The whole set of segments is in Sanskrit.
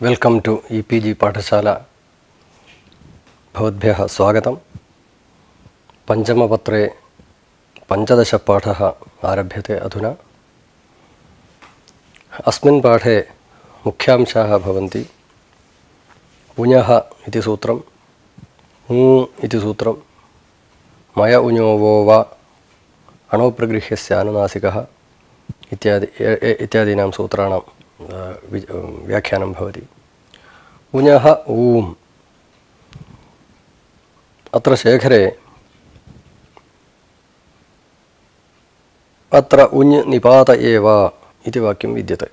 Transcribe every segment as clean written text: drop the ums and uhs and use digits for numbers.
वेलकम टू ईपीजी पाठशाला भवद्भ्यः स्वागतं। पंचमपत्रे 15 पाठः आरभ्यते अधुना। अस्मिन् पाठे मुख्यांशाः भवन्ति उञः इति सूत्रम्, ऊ इति सूत्रं, मय उञो वो वा, अणोप्रगृह्यस्य अनुनासिकः इत्यादीनां सूत्राणां व्याख्यानं भवति। उञः ऊम्। अत्र शेखरे अत्र उञ् निपात एव इति वाक्यं विद्यते।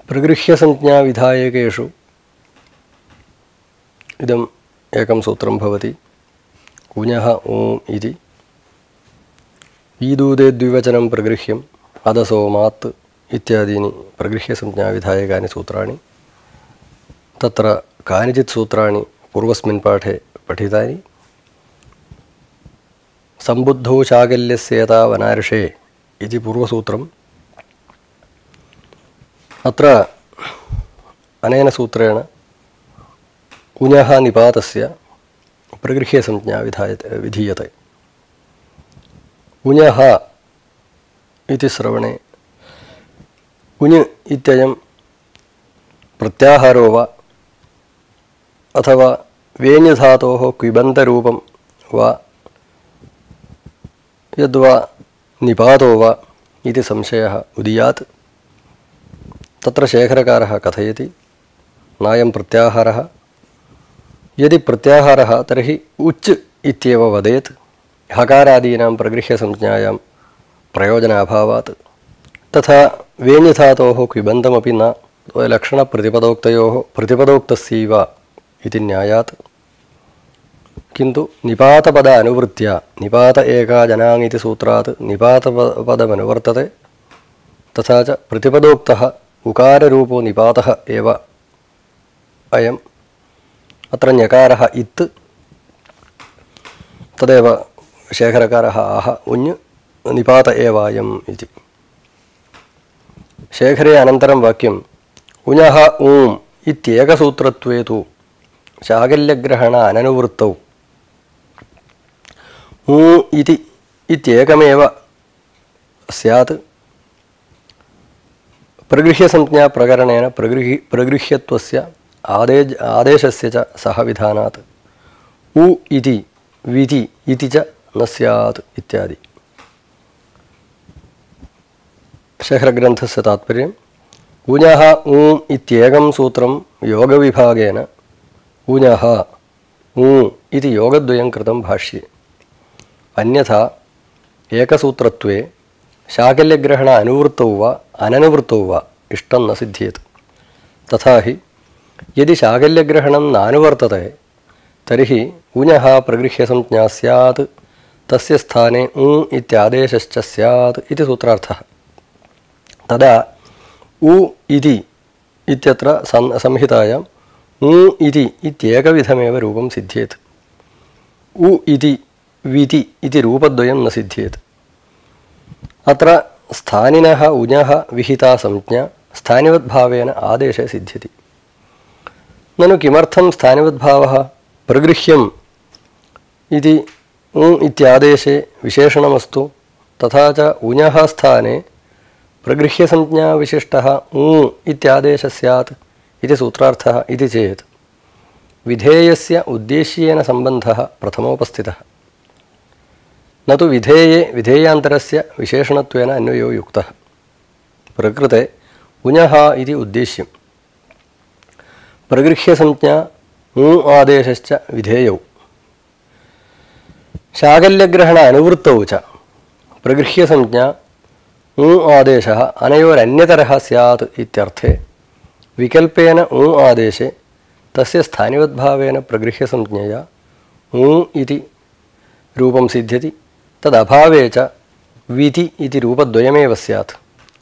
प्रगृह्यसंज्ञाविधायकेषु इदम् एकं सूत्रं भवति। उञः ऊम् इति ईदूदे द्विवचनं प्रगृह्यम् अदसोमात् इत्यादीनि प्रगृह्यसंज्ञाविधायकानि सूत्राणि। तत्र कानिचित् सूत्राणि पूर्वस्मिन् पाठे पठितानि। सम्बुद्धौ शाकल्यस्येता वनार्षे इति पूर्वसूत्रम्। अत्र अनेन सूत्रेण उञः निपातस्य प्रगृह्यसंज्ञा विधीयते। उञः इति श्रवणे उञ् इत्ययं प्रत्याहारो वा अथवा वेञ्धातोः क्विबन्तरूपं वा यद्वा निपातो वा इति संशयः उदीयात्। तत्र शेखरकारः कथयति नायं प्रत्याहारः। यदि प्रत्याहारः तर्हि उच् इत्येव वदेत्। हकारादीनां प्रगृह्यसंज्ञायां प्रयोजनाभावात्। तथा वेञ्धातोः क्विबन्तमपि न लक्षणप्रतिपदोक्तयोः प्रतिपदोक्तस्यैव इति न्यायात्। किन्तु निपातपद अनुवृत्त्या निपात एका जनाङ् इति सूत्रात् निपातपदमनुवर्तते। तथा च प्रतिपदोक्तः उकाररूपो निपातः एव अयम्। अत्र ञकारः इत्। तदेव शेखरकारः आह उञ् निपात एवायम् इति। शेखरे अनन्तरं वाक्यम् उञः ऊम् इत्येकसूत्रत्वे तु शाकल्यग्रहण अननुवृत्तौ ऊ इति इत्येकमेव स्यात्। प्रगृह्यसंज्ञाप्रकरणेन प्रगृह्यत्वस्य आदेशस्य च सह विधानात् उ इति विधि इति च न स्यात् इत्यादि। शेखरग्रन्थस्य तात्पर्यम् उञः ऊम् इत्येकं सूत्रं योगविभागेन उञः ऊ इति योगद्वयं कृतं भाष्ये। अन्यथा एकसूत्रत्वे शाकल्यग्रहण अनुवृत्तौ वा अननुवृत्तौ वा इष्टं न सिद्ध्येत्। तथा हि यदि शाकल्यग्रहणं नानुवर्तते तर्हि उञः प्रगृह्यसंज्ञा स्यात्। तस्य स्थाने ऊ इत्यादेशश्च स्यात् इति सूत्रार्थः। तदा उ इति इत्यत्र संहितायां ऊ इति इत्येकविधमेव रूपं सिद्ध्येत्। उ इति विति इति रूपद्वयं न सिद्ध्येत्। अत्र स्थानिनः उञः विहिता संज्ञा स्थानिवद्भावेन आदेशे सिद्ध्यति। ननु किमर्थं स्थानिवद्भावः? प्रगृह्यम् इति ऊ इत्यादेशे विशेषणमस्तु। तथा च उञः स्थाने प्रगृह्यसंज्ञा विशिष्टः ऊ इत्यादेशः स्यात् इति सूत्रार्थः इति चेत् विधेयस्य उद्देश्येन सम्बन्धः प्रथमोपस्थितः। न तु विधेयान्तरस्य विशेषणत्वेन अन्वयो युक्तः। प्रकृते उञः इति उद्देश्यं, प्रगृह्यसंज्ञा ऊ आदेशश्च विधेयौ, शाकल्यग्रहण अनुवृत्तौ च प्रगृह्यसंज्ञा ऊ आदेशः अनयोरन्यतरः स्यात् इत्यर्थे विकल्पेन ऊ आदेशे तस्य स्थानिवद्भावेन प्रगृह्यसंज्ञया ऊ इति रूपं सिद्ध्यति। तदभावे च विति इति रूपद्वयमेव स्यात्।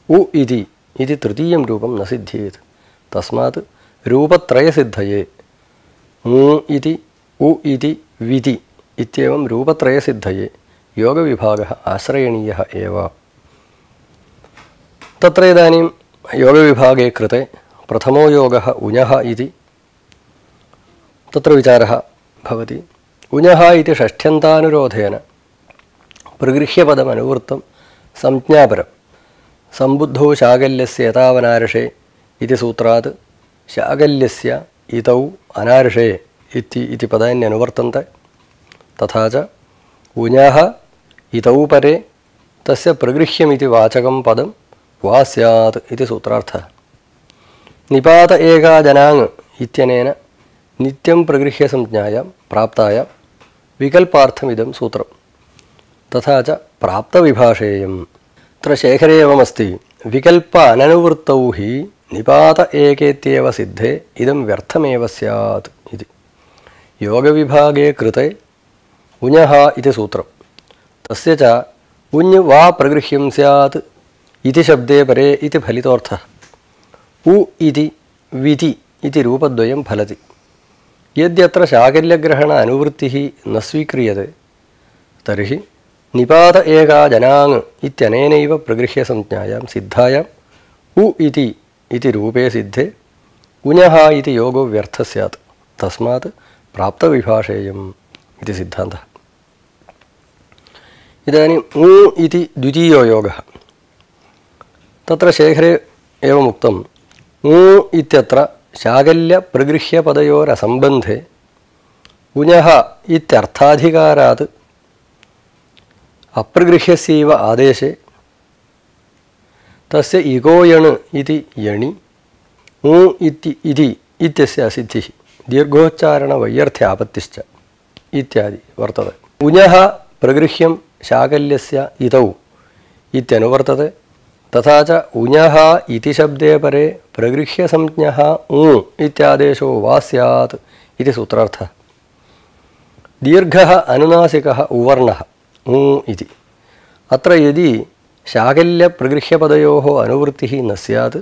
उ इति तृतीयं रूपं न सिद्ध्येत्। तस्मात् रूपत्रयसिद्धये ऊ इति उ इति विति इत्येवं रूपत्रयसिद्धये योगविभागः आश्रयणीयः एव। तत्र इदानीं योगविभागे कृते प्रथमो योगः उञः इति तत्र विचारः भवति। उञः इति षष्ठ्यन्तानुरोधेन प्रगृह्यपदमनुवृत्तं संज्ञापरं सम्बुद्धौ शाकल्यस्य यतावनार्षे इति सूत्रात् शाकल्यस्य इतौ अनार्षे इति पदान्यनुवर्तन्ते। तथा च उञः इतौ परे तस्य प्रगृह्यमिति वाचकं पदं वा स्यात् इति सूत्रार्थः। निपात एका जनाङ् इत्यनेन नित्यं प्रगृह्यसंज्ञायां प्राप्तायां विकल्पार्थमिदं सूत्रं। तथा च प्राप्तविभाषेयम्। अत्र शेखरे एवमस्ति, विकल्प अननुवृत्तौ हि निपात एकेत्येव सिद्धे इदं व्यर्थमेव स्यात् इति। योगविभागे कृते उञः इति सूत्रं, तस्य च उञ् वा प्रगृह्यं स्यात् इति शब्दे परे इति फलितोऽर्थः। उ इति विति इति रूपद्वयं फलति। यद्यत्र शाकल्यग्रहण अनुवृत्तिः न स्वीक्रियते तर्हि निपात एका जनाङ् इत्यनेनैव प्रगृह्यसंज्ञायां सिद्धायां उ इति रूपे सिद्धे उञः इति योगो व्यर्थः स्यात्। तस्मात् प्राप्तविभाषेयम् इति सिद्धान्तः। इदानीम् उ इति द्वितीयो योगः। तत्र शेखरे एवमुक्तम्, उ इत्यत्र शाकल्यप्रगृह्यपदयोरसम्बन्धे उञः इत्यर्थाधिकारात् अप्रगृह्यस्यैव आदेशे तस्य इगोयण् इति यणि उ इत्यस्य असिद्धिः दीर्घोच्चारणवैयर्थ्यापत्तिश्च इत्यादि वर्तते। उञः प्रगृह्यं शाकल्यस्य इतौ इत्यनुवर्तते। तथा च उञः इति शब्दे परे प्रगृह्यसंज्ञः उ इत्यादेशो वा स्यात् इति सूत्रार्थः। दीर्घः अनुनासिकः उवर्णः उ इति। अत्र यदि शाकल्यप्रगृह्यपदयोः अनुवृत्तिः न स्यात्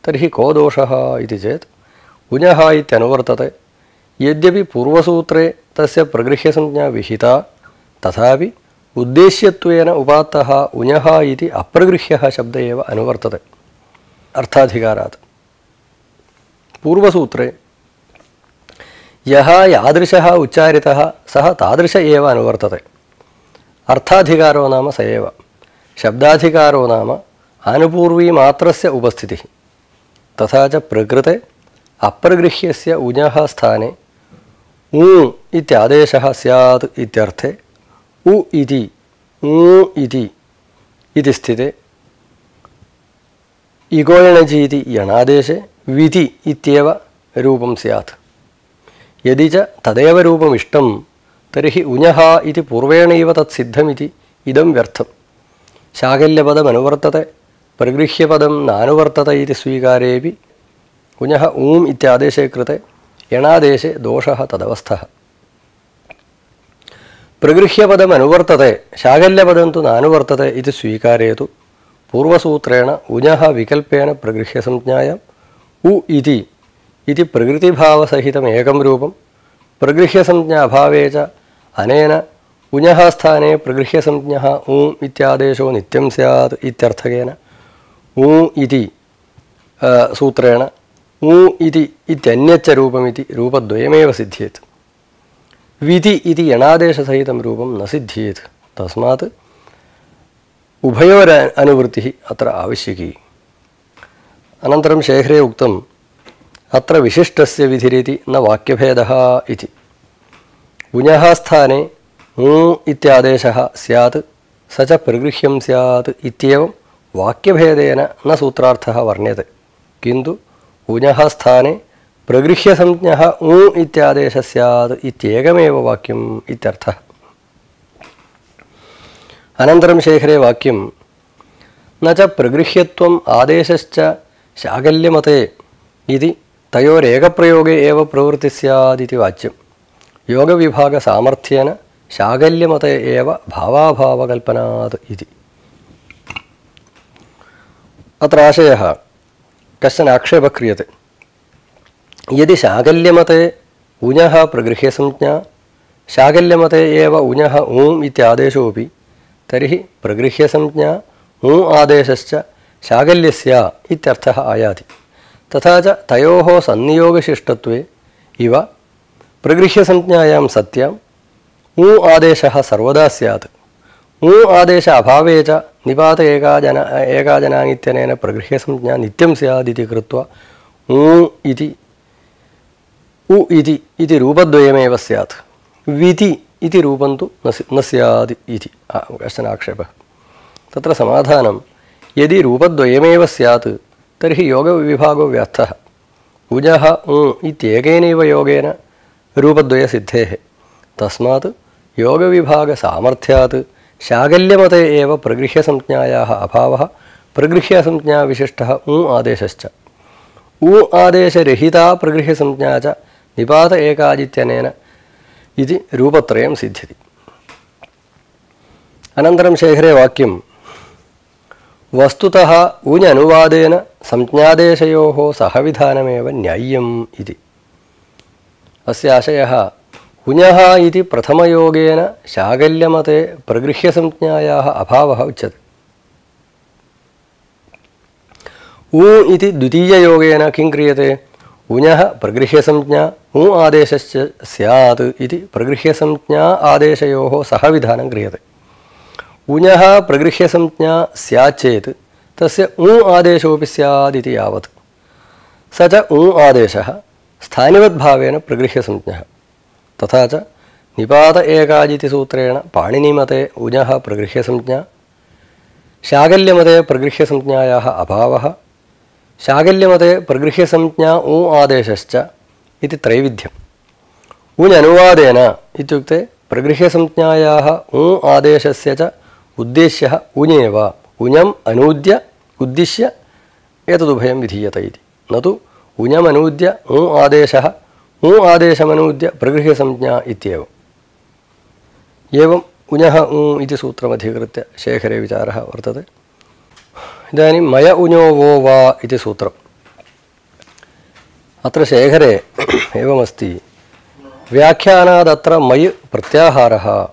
तर्हि को दोषः इति चेत् उञः इत्यनुवर्तते। यद्यपि पूर्वसूत्रे तस्य प्रगृह्यसंज्ञा विहिता तथापि उद्देश्यत्वेन उपात्तः उञः इति अप्रगृह्यः शब्द एव अनुवर्तते अर्थाधिकारात्। पूर्वसूत्रे यः यादृशः उच्चारितः सः तादृश एव अनुवर्तते। अर्थाधिकारो नाम स एव। शब्दाधिकारो नाम आनुपूर्वीमात्रस्य उपस्थितिः। तथा च प्रकृते अप्रगृह्यस्य उञः स्थाने उ इत्यादेशः स्यात् इत्यर्थे उ इति स्थिते इगोयणजीति यणादेशे विति इत्येव रूपं स्यात्। यदि च तदेव रूपमिष्टं तर्हि उञः इति पूर्वेणैव तत्सिद्धमिति इदं व्यर्थम्। शाकल्यपदमनुवर्तते, प्रगृह्यपदं नानुवर्तते इति स्वीकारेऽपि उञः ऊम् इत्यादेशे कृते यणादेशे दोषः तदवस्थः। प्रगृह्यपदमनुवर्तते, शाकल्यपदं तु नानुवर्तते इति स्वीकारे तु पूर्वसूत्रेण उञः विकल्पेन प्रगृह्यसंज्ञायाम् उ इति प्रकृतिभावसहितम् एकं रूपं, प्रगृह्यसंज्ञाभावे च अनेन उञः स्थाने प्रगृह्यसंज्ञः उ इत्यादेशो नित्यं स्यात् इत्यर्थकेन उ इति सूत्रेण उ इत्यन्यच्च रूपमिति रूपद्वयमेव सिद्ध्येत्। विधि इति यणादेशसहितं रूपं न सिद्ध्येत्। तस्मात् उभयोर अनुवृत्तिः अत्र आवश्यकी। अनन्तरं शेखरे उक्तम्, अत्र विशिष्टस्य विधिरिति न वाक्यभेदः इति। उञः स्थाने उ इत्यादेशः स्यात् स च प्रगृह्यं स्यात् इत्येवं वाक्यभेदेन न सूत्रार्थः वर्ण्यते, किन्तु उञः स्थाने प्रगृह्यसंज्ञः उ इत्यादेशः स्यात् इत्येकमेव वाक्यम् इत्यर्थः। अनन्तरं शेखरे वाक्यं, न च प्रगृह्यत्वम् आदेशश्च शाकल्यमते इति तयोरेकप्रयोगे एव प्रवृत्तिः स्यादिति वाच्यं। योगविभागसामर्थ्येन शाकल्यमते एव भावाभावकल्पनात् इति। अत्र आशयः, कश्चन आक्षेपः क्रियते। यदि शाकल्यमते उञः प्रगृह्यसंज्ञा, शाकल्यमते एव उञः ऊम् इत्यादेशोऽपि, तर्हि प्रगृह्यसंज्ञा ऊ आदेशश्च शाकल्यस्य इत्यर्थः आयाति। तथा च तयोः सन्नियोगशिष्टत्वे इव प्रगृह्यसंज्ञायां सत्यां ऊ आदेशः सर्वदा स्यात्। ऊ आदेश अभावे च निपात एकाजनाङ् प्रगृह्यसंज्ञा नित्यं स्यादिति कृत्वा ऊ इति रूपद्वयमेव स्यात्। विति इति रूपं तु न स्यात् इति कश्चन आक्षेपः। तत्र समाधानं यदि रूपद्वयमेव स्यात् तर्हि योगविभागो व्यर्थः। उजः ऊ इत्येकेनैव योगेन रूपद्वयसिद्धेः। तस्मात् योगविभागसामर्थ्यात् शाकल्यमते एव प्रगृह्यसंज्ञायाः अभावः प्रगृह्यसंज्ञाविशिष्टः ऊ आदेशश्च। ऊ आदेशरहिता प्रगृह्यसंज्ञा च निपात एकाजित्यनेन इति रूपत्रयं सिद्ध्यति। अनन्तरं शेखरे वाक्यं वस्तुतः ऊञ् अनुवादेन संज्ञादेशयोः सहविधानमेव न्याय्यम् इति। अस्य आशयः उञः इति प्रथमयोगेन शाकल्यमते प्रगृह्यसंज्ञायाः अभावः उच्यते। ऊ इति द्वितीययोगेन किं क्रियते? उञः प्रगृह्यसंज्ञा ऊ आदेशश्च स्यात् इति प्रगृह्यसंज्ञा आदेशयोः सहविधानं क्रियते। उञः प्रगृह्यसंज्ञा स्यात् चेत् तस्य ऊ आदेशोऽपि स्यात् इति यावत्। स च ऊ आदेशः स्थानिवद्भावेन प्रगृह्यसंज्ञः। तथा च निपात एकाजिति सूत्रेण पाणिनिमते उञः प्रगृह्यसंज्ञा, शाकल्यमते प्रगृह्यसंज्ञायाः अभावः, शाकल्यमते प्रगृह्यसंज्ञा ऊ आदेशश्च इति त्रैविध्यम्। उञ् अनुवादेन इत्युक्ते प्रगृह्यसंज्ञायाः ऊ आदेशस्य च उद्देश्यः उञेव। उञम् अनूद्य उद्दिश्य एतदुभयं विधीयते इति। न तु उञमनूद्य ऊ आदेशः ऊ आदेशमनूद्य प्रगृह्यसंज्ञा इत्येव। एवम् उञः ऊ इति सूत्रमधिकृत्य शेखरे विचारः वर्तते। इदानीं मय उञो वो वा इति सूत्रम्। अत्र शेखरे एवमस्ति व्याख्यानादत्र मय् प्रत्याहारः।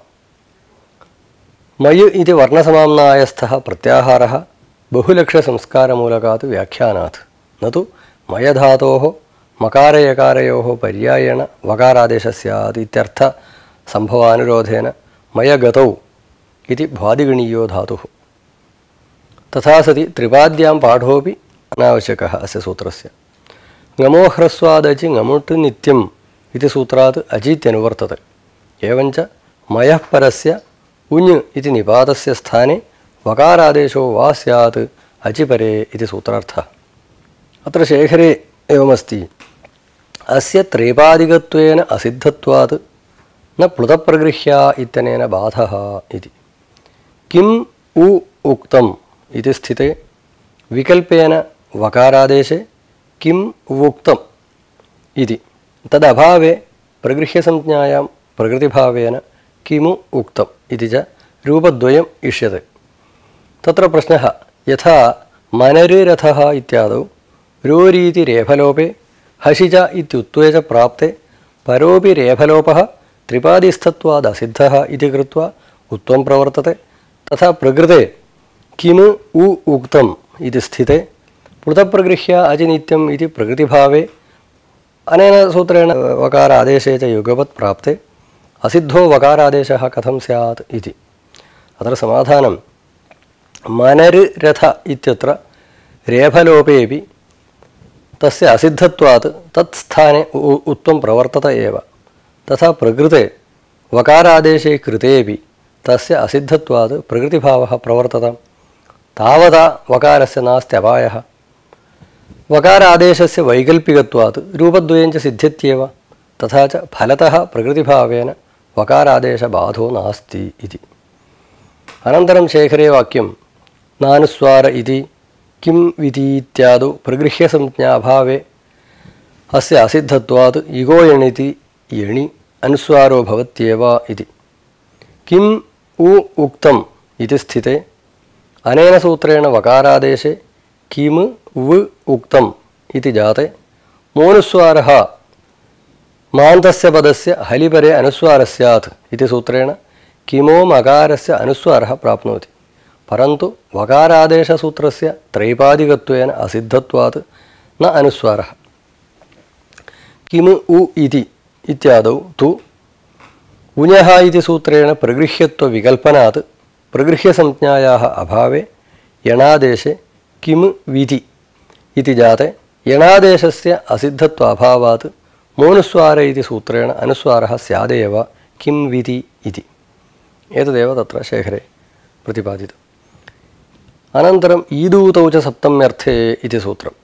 मय् इति वर्णसमाम्नायस्थः प्रत्याहारः बहुलक्ष्यसंस्कारमूलकात् व्याख्यानात्, न तु मयधातोः मकारयकारयोः पर्यायेण वकारादेशः स्यात् इत्यर्थसम्भवानुरोधेन मयगतौ इति भ्वादिगणीयो धातुः। तथा सति त्रिपाद्यां पाठोऽपि अनावश्यकः अस्य सूत्रस्य। ङमोह्रस्वादचि ङमुट् नित्यम् इति सूत्रात् अचीत्यनुवर्तते। एवञ्च मयः परस्य उञ् इति निपातस्य स्थाने वकारादेशो वा स्यात् अचिपरे इति सूत्रार्थः। अत्र शेखरे एवमस्ति अस्य त्रेपादिकत्वेन असिद्धत्वात् न प्लुतप्रगृह्या इत्यनेन बाधः इति। किम् उ उक्तम् इति स्थिते विकल्पेन वकारादेशे किम् उक्तम् इति तदभावे प्रगृह्यसंज्ञायां प्रकृतिभावेन किमु उक्तम् इति च रूपद्वयम् इष्यते। तत्र प्रश्नः यथा मनरिरथः इत्यादौ रोरीति रेफलोपे हसिच इत्युत्वे च प्राप्ते परोपि रेफलोपः त्रिपादिस्थत्वादसिद्धः इति कृत्वा उत्वं प्रवर्तते। तथा प्रकृते किमु उ उक्तम् इति स्थिते प्लुतप्रगृह्य अजिनित्यम् इति प्रकृतिभावे अनेन सूत्रेण वकार आदेशे च युगपत् प्राप्ते असिद्धो वकारादेशः कथं स्यात् इति। अत्र समाधानं मनरिरथ इत्यत्र रेफलोपेऽपि तस्य असिद्धत्वात् तत्स्थाने उत्वं प्रवर्तत एव। तथा प्रकृते वकारादेशे कृतेऽपि तस्य असिद्धत्वात् प्रकृतिभावः प्रवर्तत। तावता वकारस्य नास्त्यपायः। वकारादेशस्य वैकल्पिकत्वात् रूपद्वयं च सिद्ध्यत्येव। तथा च फलतः प्रकृतिभावेन वकारादेशबाधो नास्ति इति। अनन्तरं शेखरे वाक्यं नानुस्वार इति किं विधीत्यादौ प्रगृह्यसंज्ञाभावे अस्य असिद्धत्वात् इगो यणिति यणि अनुस्वारो भवत्येव इति। किम् उ उक्तम् इति स्थिते अनेन सूत्रेण वकारादेशे किम् व उक्तम् इति जाते मोनुस्वारः मान्तस्य पदस्य हलिपरे अनुस्वारः स्यात् इति सूत्रेण किमो मकारस्य अनुस्वारः प्राप्नोति। परन्तु वकारादेशसूत्रस्य त्रैपादिकत्वेन असिद्धत्वात् न अनुस्वारः। किमु उ इति इत्यादौ तु उञः इति सूत्रेण प्रगृह्यत्वविकल्पनात् प्रगृह्यसंज्ञायाः अभावे यणादेशे किम् विधि इति जाते यणादेशस्य असिद्धत्वाभावात् मोनुस्वारे इति सूत्रेण अनुस्वारः स्यादेव किं विधि इति। एतदेव तत्र शेखरे प्रतिपादितम्। अनन्तरम् ईदूतौ च सप्तम्यर्थे इति सूत्रम्।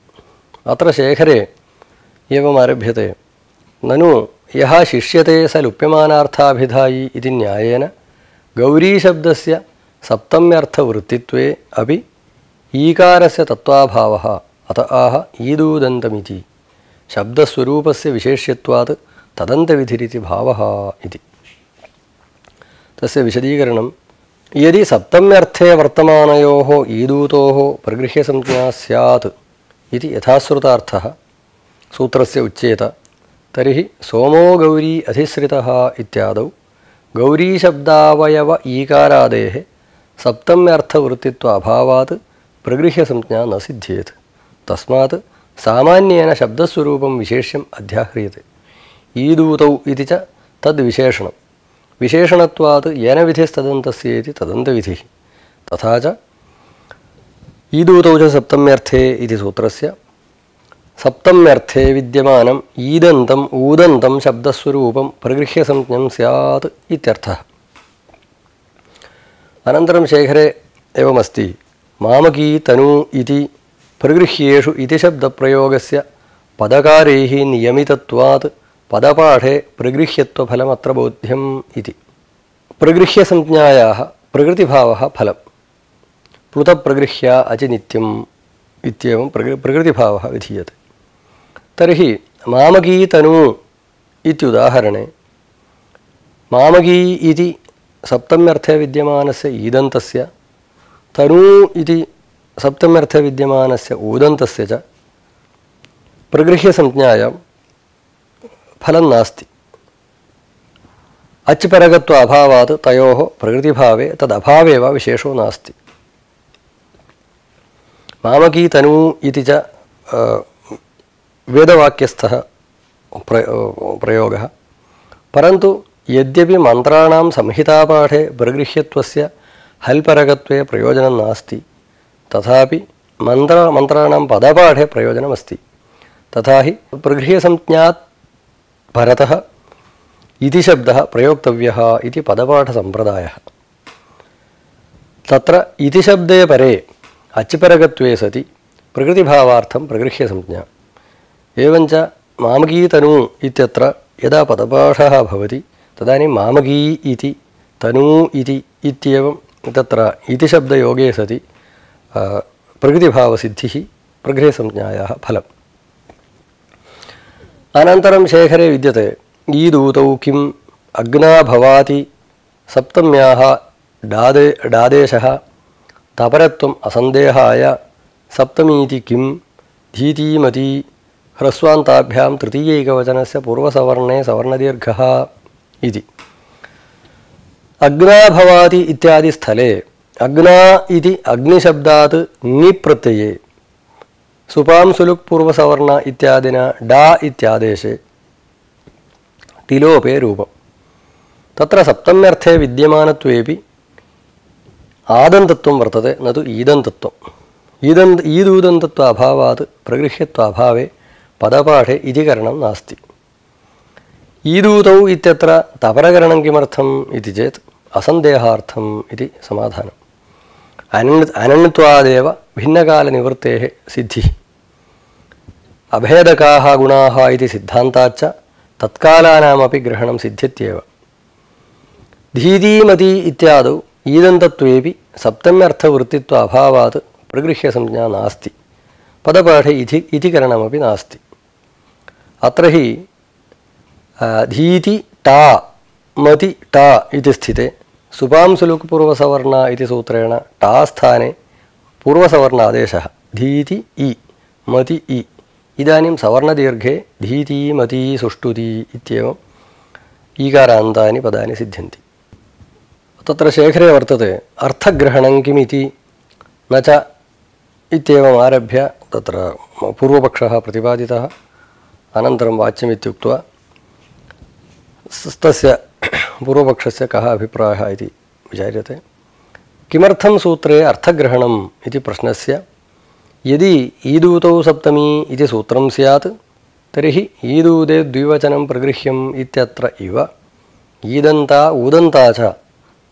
अत्र शेखरे एवम् आरभ्यते, ननु यः शिष्यते स लुप्यमानार्थाभिधायी इति न्यायेन गौरीशब्दस्य सप्तम्यर्थवृत्तित्वे अपि ईकारस्य तत्त्वाभावः अत आह ईदूदन्तमिति शब्दस्वरूपस्य विशेष्यत्वात् तदन्तविधिरिति भावः इति। तस्य विशदीकरणं, यदि सप्तम्यर्थे वर्तमानयोः ईदूतोः प्रगृह्यसंज्ञा स्यात् इति यथाश्रुतार्थः सूत्रस्य उच्येत, तर्हि सोमो गौरी अधिश्रितः इत्यादौ गौरीशब्दावयव ईकारादेः सप्तम्यर्थवृत्तित्वाभावात् प्रगृह्यसंज्ञा न सिद्ध्येत्। तस्मात् सामान्येन शब्दस्वरूपं विशेष्यम् अध्याह्रियते। ईदूतौ इति च तद्विशेषणं, विशेषणत्वात् येन विधिस्तदन्तस्य इति तदन्तविधिः। तथा च ईदूतौ च सप्तम्यर्थे इति सूत्रस्य सप्तम्यर्थे विद्यमानम् ईदन्तम् ऊदन्तं शब्दस्वरूपं प्रगृह्यसंज्ञं स्यात् इत्यर्थः। अनन्तरं शेखरे एवमस्ति, मामकी तनु इति प्रगृह्येषु इति शब्दप्रयोगस्य पदकारैः नियमितत्वात् पदपाठे प्रगृह्यत्वफलमत्र बोध्यम् इति। प्रगृह्यसंज्ञायाः प्रकृतिभावः फलं, प्लुतप्रगृह्य अचिनित्यम् इत्येवं प्रकृतिभावः विधीयते। तर्हि मामकी तनु इत्युदाहरणे मामकी इति सप्तम्यर्थे विद्यमानस्य ईदन्तस्य, तनु इति सप्तम्यर्थे विद्यमानस्य ऊदन्तस्य च प्रगृह्यसंज्ञायां फलं नास्ति। अच्परगत्व अभावात् तयोः प्रकृतिभावे तदभावे वा विशेषो नास्ति। मामकी तनु इति च वेदवाक्यस्थः प्रयोगः, परन्तु यद्यपि मन्त्राणां संहितापाठे प्रगृह्यत्वस्य हल्परगत्वे प्रयोजनं नास्ति, तथापि मन्त्राणां पदपाठे प्रयोजनमस्ति। तथा हि प्रगृह्यसंज्ञात् परतः इति शब्दः प्रयोक्तव्यः इति पदपाठसम्प्रदायः। तत्र इति शब्दे परे अच्परगत्वे सति प्रकृतिभावार्थं प्रगृह्यसंज्ञा। एवञ्च मामकी तनु इत्यत्र यदा पदपाठः भवति तदानीं मामकी इति तनु इति इत्येवं तत्र इति शब्दयोगे सति प्रकृतिभावसिद्धिः प्रगृह्यसंज्ञायाः फलम्। अनन्तरं शेखरे विद्यते, ईदूतौ किम् अग्ना भवाति सप्तम्याः डादेशः तपरत्वम् असन्देहाय सप्तमीति किं धीतीमती ह्रस्वान्ताभ्यां तृतीयैकवचनस्य पूर्वसवर्णे सवर्णदीर्घः इति। अग्ना भवाति इत्यादि स्थले अग्ना इति अग्निशब्दात् ङि प्रत्यये सुपां सुलुक् पूर्वसवर्ण इत्यादिना डा इत्यादेशे तिलोपे रूपम्। तत्र सप्तम्यर्थे विद्यमानत्वेपि आदन्तत्वं वर्तते, न तु ईदन्तत्वम्। ईदूदन्तत्व अभावात् प्रगृह्यत्वाभावे पदपाठे इतिकरणं नास्ति। ईदूतौ इत्यत्र तपरकरणं किमर्थम् इति चेत् असन्देहार्थम् इति समाधानम्। अनन्यत्वादेव भिन्नकालनिवृत्तेः सिद्धिः। अभेदकाः गुणाः इति सिद्धान्ताच्च तत्कालानामपि ग्रहणं सिद्ध्यत्येव। धीतीमती इत्यादौ ईदन्तत्वेपि सप्तम्यर्थवृत्तित्व अभावात् प्रगृह्यसंज्ञा नास्ति, पदपाठे इतिकरणमपि नास्ति। अत्र हि धीति टा मति टा इति स्थिते सुपां सुलुक् पूर्वसवर्ण इति सूत्रेण टा स्थाने पूर्वसवर्णादेशः धीति इ मति इ। इदानीं सवर्णदीर्घे धीति मति सुष्टुति इत्येवम् ईकारान्तानि पदानि सिद्ध्यन्ति। तत्र शेखरे वर्तते, अर्थग्रहणं किमिति न च इत्येवम् आरभ्य तत्र पूर्वपक्षः प्रतिपादितः। अनन्तरं वाच्यमित्युक्त्वा तस्य पूर्वपक्षस्य कः अभिप्रायः इति विचार्यते। किमर्थं सूत्रे अर्थग्रहणम् इति प्रश्नस्य यदि ईदूतौ सप्तमी इति सूत्रं स्यात् तर्हि ईदूदे द्विवचनं प्रगृह्यम् इत्यत्र इव ईदन्ता ऊदन्ता च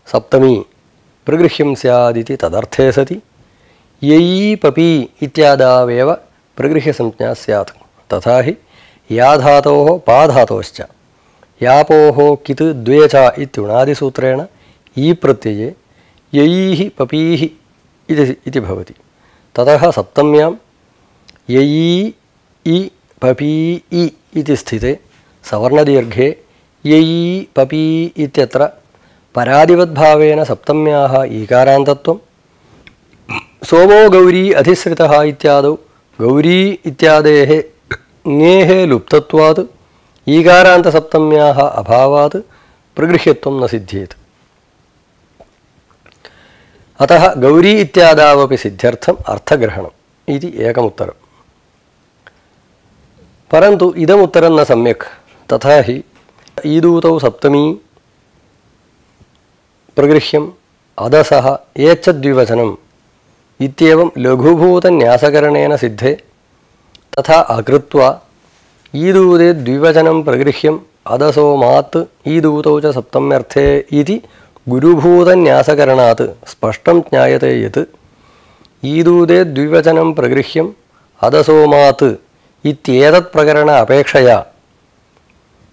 सप्तमी प्रगृह्यं स्यादिति तदर्थे सति ययी पपी इत्यादावेव प्रगृह्यसंज्ञा स्यात्। तथा हि याधातोः पाधातोश्च यापोः कित् द्वे च इत्युणादिसूत्रेण ई प्रत्यये ययीः पपीः इति भवति। ततः सप्तम्यां ययी इ पपी इ इति स्थिते सवर्णदीर्घे ययी पपी इत्यत्र परादिवद्भावेन सप्तम्याः ईकारान्तत्वं सोमो गौरी अधिसृतः इत्यादौ गौरी इत्यादेः ङेः लुप्तत्वात् ईकारान्तसप्तम्याः अभावात् प्रगृह्यत्वं न सिद्ध्येत्। अतः गौरी इत्यादावपि सिद्ध्यर्थम् अर्थग्रहणम् इति एकमुत्तरम्। परन्तु इदमुत्तरं न सम्यक्। तथा हि ईदूतौ सप्तमी प्रगृह्यम् अदसः एच्छद्विवचनम् इत्येवं लघुभूतन्यासकरणेन सिद्धे तथा अकृत्वा ईदूदे द्विवचनं प्रगृह्यम् अदसो मात् ईदूतौ च सप्तम्यर्थे इति गुरुभूतन्यासकरणात् स्पष्टं ज्ञायते यत् ईदूदे द्विवचनं प्रगृह्यम् अदसो मात् इत्येतत् प्रकरण अपेक्षया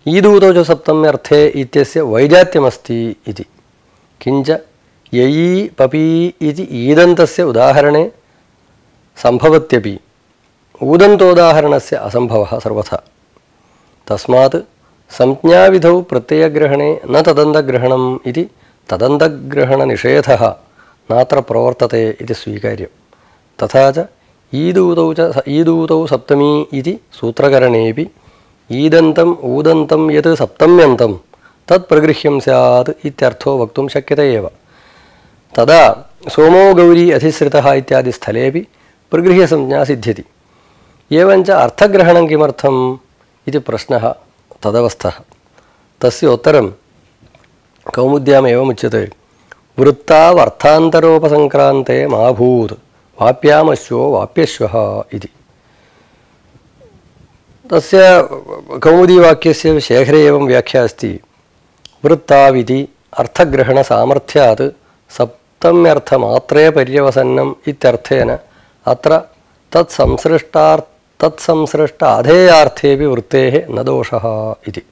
ईदूतौ च सप्तम्यर्थे इत्यस्य वैजात्यमस्ति इति। किञ्च ययी पपी इति ईदन्तस्य उदाहरणे सम्भवत्यपि ऊदन्तोदाहरणस्य असम्भवः सर्वथा। तस्मात् संज्ञाविधौ प्रत्ययग्रहणे न तदन्तग्रहणम् इति तदन्तग्रहणनिषेधः नात्र प्रवर्तते इति स्वीकार्यम्। तथा च ईदूतौ सप्तमी इति सूत्रकरणेऽपि ईदन्तम् ऊदन्तं यत् सप्तम्यन्तं तत् प्रगृह्यं स्यात् इत्यर्थो वक्तुं शक्यते एव। तदा सोमो गौरी अधिसृतः इत्यादि स्थलेऽपि प्रगृह्यसंज्ञा सिद्ध्यति। एवञ्च अर्थग्रहणं किमर्थम् इति प्रश्नः तदवस्थः। तस्य उत्तरं कौमुद्याम् एवमुच्यते। वृत्तावर्थान्तरोपसङ्क्रान्ते मा भूत् वाप्यामश्वो वाप्यश्वः इति। तस्य कौमुदीवाक्यस्य शेखरे एवं व्याख्या अस्ति। वृत्ताविति अर्थग्रहणसामर्थ्यात् सप्तम्यर्थमात्रे पर्यवसन्नम् इत्यर्थेन अत्र तत्संसृष्ट अधेयार्थेऽपि वृत्तेः न दोषः इति।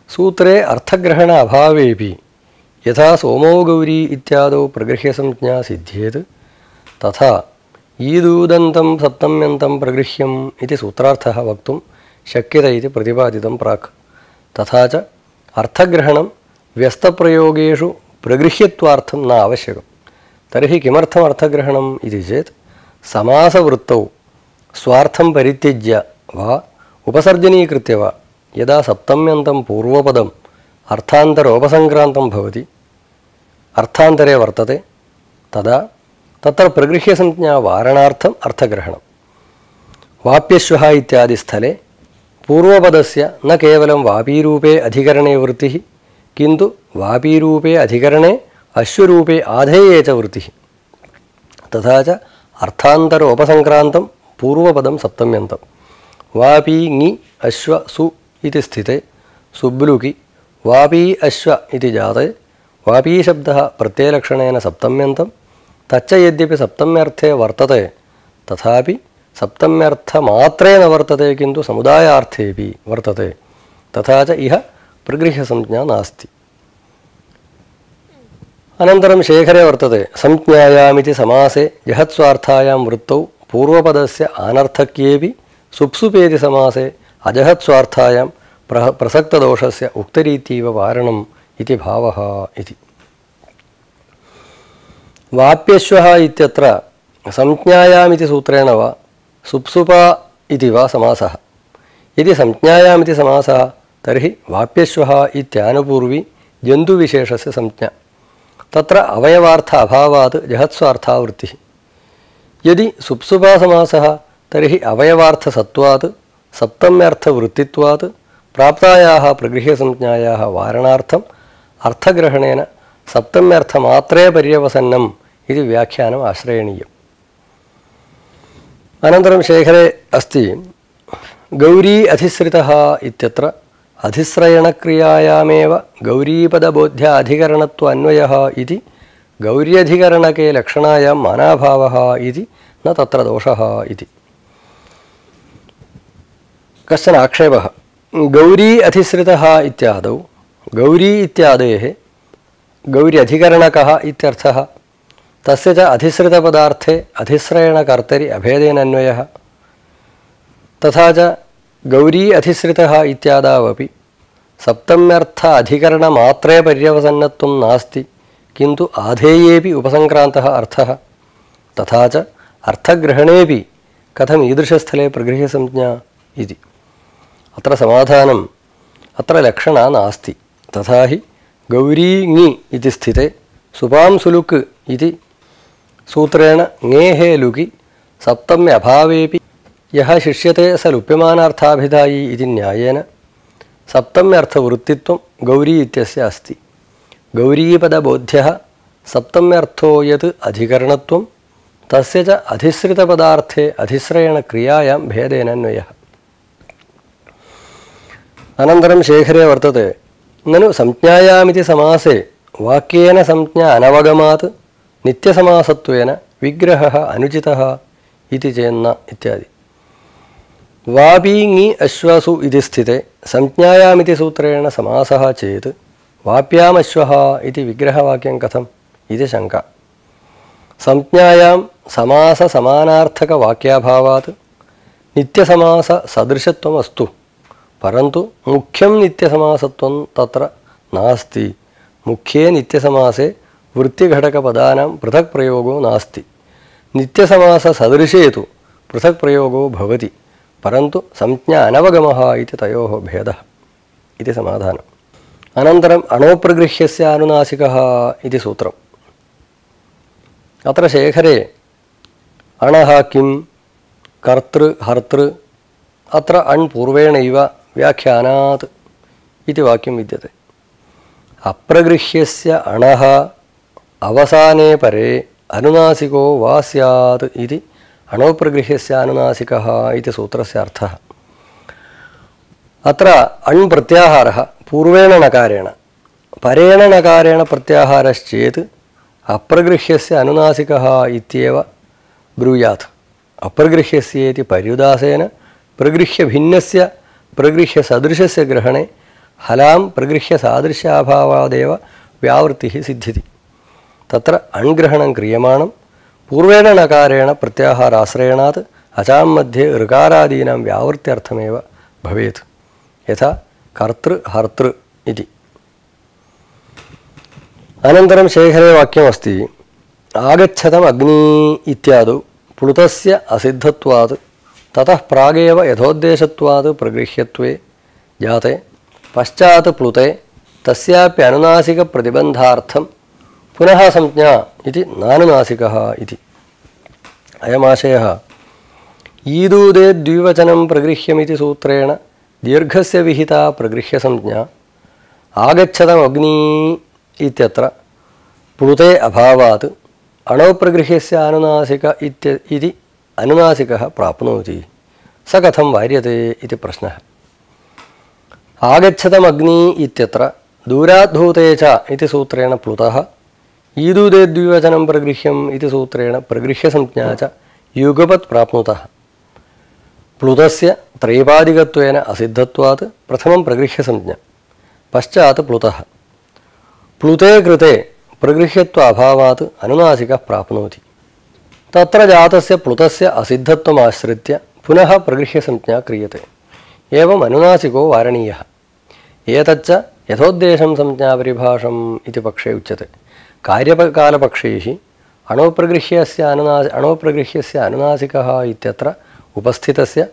सूत्रे अर्थग्रहण अभावेऽपि यथा सोमो गौरी इत्यादौ प्रगृह्यसंज्ञा सिद्ध्येत् तथा ईदूदन्तं सप्तम्यन्तं प्रगृह्यम् इति सूत्रार्थः वक्तुं शक्यते इति प्रतिपादितं प्राक्। तथा च अर्थग्रहणं व्यस्तप्रयोगेषु प्रगृह्यत्वार्थं न आवश्यकं। तर्हि किमर्थम् अर्थग्रहणम् इति चेत् समासवृत्तौ स्वार्थं परित्यज्य वा उपसर्जनीकृत्य वा यदा सप्तम्यन्तं पूर्वपदम् अर्थान्तरोपसङ्क्रान्तं भवति अर्थान्तरे वर्तते तदा तत्र प्रगृह्यसंज्ञा वारणार्थम् अर्थग्रहणम्। वाप्यश्वः इत्यादि स्थले पूर्वपदस्य न केवलं वापीरूपे अधिकरणे वृत्तिः किन्तु वापीरूपे अधिकरणे अश्वरूपे आधेये च वृत्तिः। तथा च अर्थान्तरोपसङ्क्रान्तं पूर्वपदं सप्तम्यन्तं वापी ङि अश्व सु इति स्थिते सुब्लुकि वापी अश्व इति जाते वापीशब्दः प्रत्ययलक्षणेन सप्तम्यन्तं तच्च यद्यपि सप्तम्यर्थे वर्तते तथापि सप्तम्यर्थमात्रे न वर्तते किन्तु समुदायार्थेऽपि वर्तते। तथा च इह प्रगृह्यसंज्ञा नास्ति। अनन्तरं शेखरे वर्तते संज्ञायामिति समासे जहत्स्वार्थायां वृत्तौ पूर्वपदस्य आनर्थक्येऽपि सुप्सुपेति समासे अजहत्स्वार्थायां प्रसक्तदोषस्य उक्तरीत्यैव वारणम् इति भावः इति। वाप्यश्वः इत्यत्र संज्ञायामिति सूत्रेण वा सुप्सुपा इति वा समासः। यदि संज्ञायामिति समासः तर्हि वाप्यश्वः इत्यानुपूर्वी जन्तुविशेषस्य संज्ञा। तत्र अवयवार्थ अभावात् जहत्स्वार्था वृत्तिः। यदि सुप्सुपासमासः तर्हि अवयवार्थसत्त्वात् सप्तम्यर्थवृत्तित्वात् प्राप्तायाः प्रगृह्यसंज्ञायाः वारणार्थम् अर्थग्रहणेन सप्तम्यर्थमात्रे पर्यवसन्नम् इति व्याख्यानम् आश्रयणीयम्। अनन्तरं शेखरे अस्ति गौरी अधिश्रितः इत्यत्र अधिश्रयणक्रियायामेव गौरीपदबोध्य अधिकरणत्व अन्वयः इति गौर्यधिकरणके लक्षणायां मानाभावः इति न तत्र दोषः इति कश्चन आक्षेपः। गौरी अधिश्रितः इत्यादौ गौरी इत्यादेः गौर्यधिकरणकः इत्यर्थः, तस्य च अधिश्रितपदार्थे अधिश्रयणकर्तरि अभेदेन अन्वयः। तथा च गौरी अधिश्रितः इत्यादावपि सप्तम्यर्थ अधिकरणमात्रे पर्यवसन्नत्वं नास्ति, किन्तु आधेयेपि उपसंक्रान्तः अर्थः। तथा च अर्थग्रहणेपि कथम् ईदृशस्थले प्रगृह्यसंज्ञा इति। अत्र समाधानम्, अत्र लक्षणा नास्ति। तथा हि गौरी ङि इति स्थिते सुपां सुलुक् इति सूत्रेण ङेः लुकि सप्तम्य अभावेपि यः शिष्यते स लुप्यमानार्थाभिधायी इति न्यायेन सप्तम्यर्थवृत्तित्वं गौरी इत्यस्य अस्ति। गौरीपदबोध्यः सप्तम्यर्थो यत् अधिकरणत्वं तस्य च अधिश्रितपदार्थे अधिश्रयणक्रियायां भेदेन अन्वयः। अनन्तरं शेखरे वर्तते ननु संज्ञायामिति समासे वाक्येन संज्ञा अनवगमात् नित्यसमासत्वेन विग्रहः अनुचितः इति चेन्न इत्यादि। वापि ङि अश्वसु इति स्थिते संज्ञायामिति सूत्रेण समासः चेत् वाप्यामश्वः इति विग्रहवाक्यं कथम् इति शङ्का। संज्ञायां समाससमानार्थकवाक्याभावात् नित्यसमाससदृशत्वम् अस्तु, परन्तु मुख्यं नित्यसमासत्वं तत्र नास्ति। मुख्ये नित्यसमासे वृत्तिघटकपदानां पृथक् प्रयोगो नास्ति। नित्यसमाससदृशे तु पृथक् प्रयोगो भवति, परन्तु संज्ञा अनवगमः इति तयोः भेदः इति समाधानम्। अनन्तरम् अणोप्रगृह्यस्य अनुनासिकः इति सूत्रम्। अत्र शेखरे अणः किं कर्तृ हर्तृ अत्र अण् पूर्वेणैव व्याख्यानात् इति वाक्यं विद्यते। अप्रगृह्यस्य अणः अवसाने परे अनुनासिको वा स्यात् इति अणोप्रगृह्यस्य अनुनासिकः इति सूत्रस्य अर्थः। अत्र अण् प्रत्याहारः पूर्वेण नकारेण परेण नकारेण प्रत्याहारश्चेत् अप्रगृह्यस्य अनुनासिकः इत्येव ब्रूयात्। अप्रगृह्यस्येति पर्युदासेन प्रगृह्यभिन्नस्य प्रगृह्यसदृशस्य ग्रहणे हलां प्रगृह्यसादृश्याभावादेव व्यावृत्तिः सिद्ध्यति। तत्र अण्ग्रहणं क्रियमाणं पूर्वेण नकारेण प्रत्याहाराश्रयणात् अचां मध्ये ऋकारादीनां व्यावृत्त्यर्थमेव भवेत्, यथा कर्तृ हर्तृ इति। अनन्तरं शेखरे वाक्यमस्ति आगच्छतम् अग्नि इत्यादौ प्लुतस्य असिद्धत्वात् ततः प्रागेव यथोद्देशत्वात् प्रगृह्यत्वे जाते पश्चात् प्लुते तस्याप्य अनुनासिकप्रतिबन्धार्थं पुनः संज्ञा इति नानुनासिकः इति। अयमाशयः ईदूदे द्विवचनं प्रगृह्यमिति सूत्रेण दीर्घस्य विहिता प्रगृह्यसंज्ञा आगच्छतम् अग्नि इत्यत्र प्लुते अभावात् अणोप्रगृह्यस्य अनुनासिक इति अनुनासिकः प्राप्नोति, स कथं वार्यते इति प्रश्नः। आगच्छतम् अग्नि इत्यत्र दूराद्धूते च इति सूत्रेण प्लुतः, ईदूदे द्विवचनं प्रगृह्यम् इति सूत्रेण प्रगृह्यसंज्ञा च युगपत् प्राप्नुतः। प्लुतस्य त्रैपादिकत्वेन असिद्धत्वात् प्रथमं प्रगृह्यसंज्ञा, पश्चात् प्लुतः। प्लुते कृते प्रगृह्यत्व अभावात् अनुनासिकः प्राप्नोति। तत्र जातस्य प्लुतस्य असिद्धत्वमाश्रित्य पुनः प्रगृह्यसंज्ञा क्रियते। एवम् अनुनासिको वारणीयः। एतच्च यथोद्देशं संज्ञापरिभाषम् इति पक्षे उच्यते। कार्यकालपक्षैः अणोप्रगृह्यस्य अनुनासिकः इत्यत्र उपस्थितस्य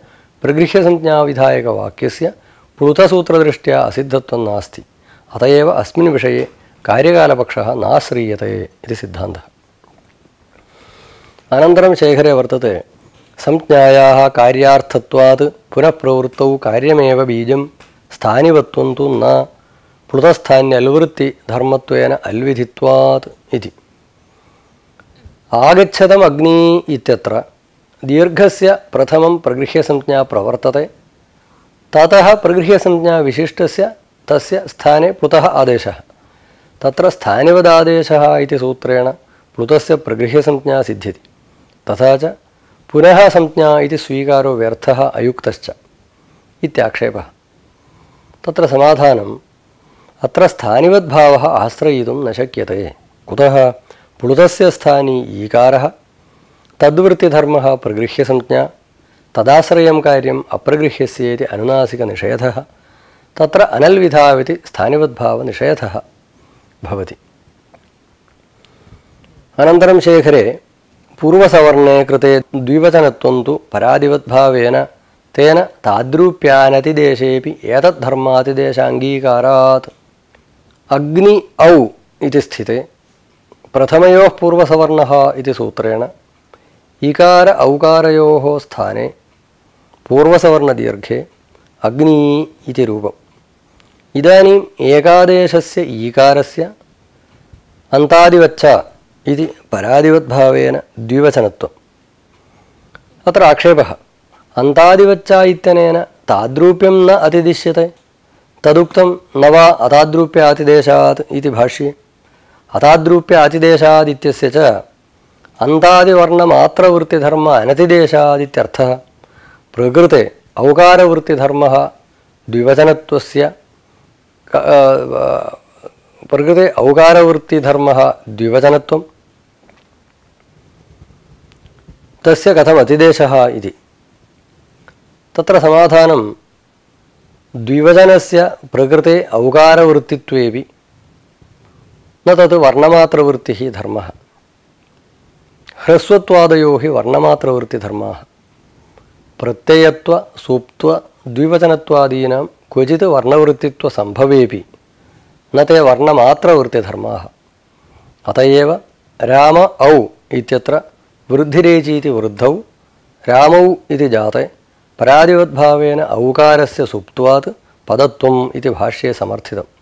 प्रगृह्यसंज्ञाविधायकवाक्यस्य प्लुतसूत्रदृष्ट्या असिद्धत्वं नास्ति। अत एव अस्मिन् विषये कार्यकालपक्षः नाश्रीयते इति सिद्धान्तः। अनन्तरं शेखरे वर्तते संज्ञायाः कार्यार्थत्वात् पुनः प्रवृत्तौ कार्यमेव बीजं स्थानिवत्वं तु न प्लुतस्थान्यल्वृत्तिधर्मत्वेन अल्विधित्वात् इति। आगच्छतम् अग्नि इत्यत्र दीर्घस्य प्रथमं प्रगृह्यसंज्ञा प्रवर्तते। ततः प्रगृह्यसंज्ञा विशिष्टस्य तस्य स्थाने प्लुतः आदेशः। तत्र स्थानिवदादेशः इति सूत्रेण प्लुतस्य प्रगृह्यसंज्ञा सिद्ध्यति। तथा च पुनः संज्ञा इति स्वीकारो व्यर्थः अयुक्तश्च इत्याक्षेपः। तत्र समाधानम् अत्र स्थानिवद्भावः आश्रयितुं न शक्यते। कुतः? प्लुतस्य स्थानी ईकारः, तद्वृत्तिधर्मः प्रगृह्यसंज्ञा, तदाश्रयं कार्यम् अप्रगृह्यस्येति अनुनासिकनिषेधः, तत्र अनल्विधाविति स्थानिवद्भावनिषेधः भवति। अनन्तरं शेखरे पूर्वसवर्णे कृते द्विवचनत्वं तु परादिवद्भावेन तेन ताद्रूप्यानतिदेशेऽपि एतद्धर्मातिदेशाङ्गीकारात्। अग्नि औ इति स्थिते प्रथमयोः पूर्वसवर्णः इति सूत्रेण इकार औकारयोः स्थाने पूर्वसवर्णदीर्घे अग्नि इति रूपम्। इदानीम् एकादेशस्य ईकारस्य अन्तादिवच्च इति परादिवद्भावेन द्विवचनत्वम्। अत्र आक्षेपः अन्तादिवच्च इत्यनेन ताद्रूप्यं न अतिदिश्यते, तदुक्तं न वा अताद्रूप्यातिदेशात् इति भाष्ये। अताद्रूप्यातिदेशात् इत्यस्य च अन्तादिवर्णमात्रवृत्तिधर्म अनतिदेशादित्यर्थः। प्रकृते औकारवृत्तिधर्मः द्विवचनत्वस्य प्रकृते औकारवृत्तिधर्मः द्विवचनत्वं तस्य कथम् अतिदेशः इति। तत्र समाधानं द्विवचनस्य प्रकृते औकारवृत्तित्वेपि न तत् वर्णमात्रवृत्तिः धर्मः। ह्रस्वत्वादयो हि वर्णमात्रवृत्तिधर्माः। प्रत्ययत्व सूप्त्व द्विवचनत्वादीनां क्वचित् वर्णवृत्तित्वसम्भवेपि न ते वर्णमात्रवृत्तिधर्माः। अत एव राम औ इत्यत्र वृद्धिरेचीति वृद्धौ रामौ इति जाते परादिवद्भावेन औकारस्य सुप्त्वात् पदत्वम् इति भाष्ये समर्थितम्।